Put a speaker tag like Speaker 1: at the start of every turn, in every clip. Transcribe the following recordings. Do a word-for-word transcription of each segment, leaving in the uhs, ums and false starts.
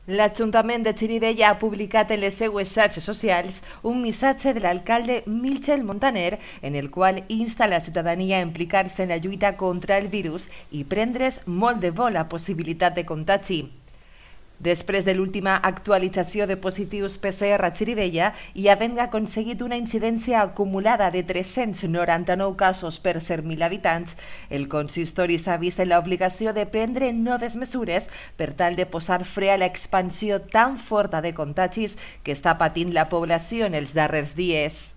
Speaker 1: L'Ajuntament de Xirivella ha publicat en les seues xarxes socials un missatge de l'alcalde Michel Montaner en el qual insta la ciutadania a implicar-se en la lluita contra el virus i prendre's molt de bo la possibilitat de contagi. Després de l'última actualització de positius P C R a Xirivella i havent aconseguit una incidència acumulada de tres-cents noranta-nou casos per cent mil habitants, el consistori s'ha vist en l'obligació de prendre noves mesures per tal de posar fre a l'expansió tan forta de contagis que està patint la població en els darrers dies.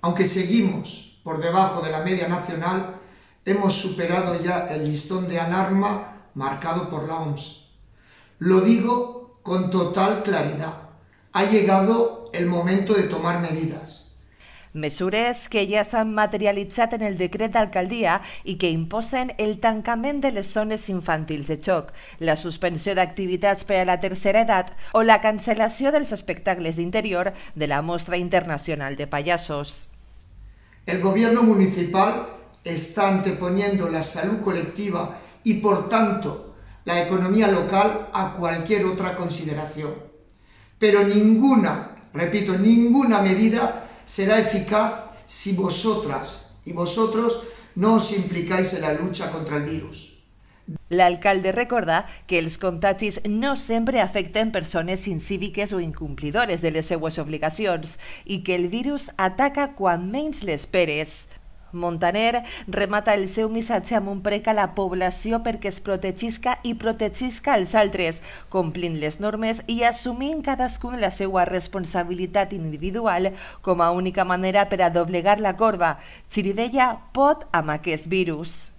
Speaker 2: Aunque seguimos por debajo de la media nacional, hemos superado ya el listón de alarma marcado por la O M S. Lo digo con total claridad. Ha llegado el momento de tomar medidas.
Speaker 1: Mesures que ja s'han materialitzat en el decret d'alcaldia i que imposen el tancament de les zones infantils de xoc, la suspensió d'activitats per a la tercera edat o la cancel·lació dels espectacles d'interior de la Mostra Internacional de Payasos.
Speaker 2: El gobierno municipal está anteponiendo la salud colectiva y, por tanto, la economía local a cualquier otra consideración. Pero ninguna, repito, ninguna medida será eficaz si vosotras y vosotros no os implicáis en la lucha contra el virus.
Speaker 1: L'alcalde recorda que els contagis no sempre afecten persones incíviques o incomplidores de les seues obligacions i que el virus ataca quan menys l'esperes. Montaner remata el seu missatge amb un prec a la població perquè es protegisca i protegisca els altres, complint les normes i assumint cadascun la seva responsabilitat individual com a única manera per a doblegar la corba. Xirivella pot amb aquest virus.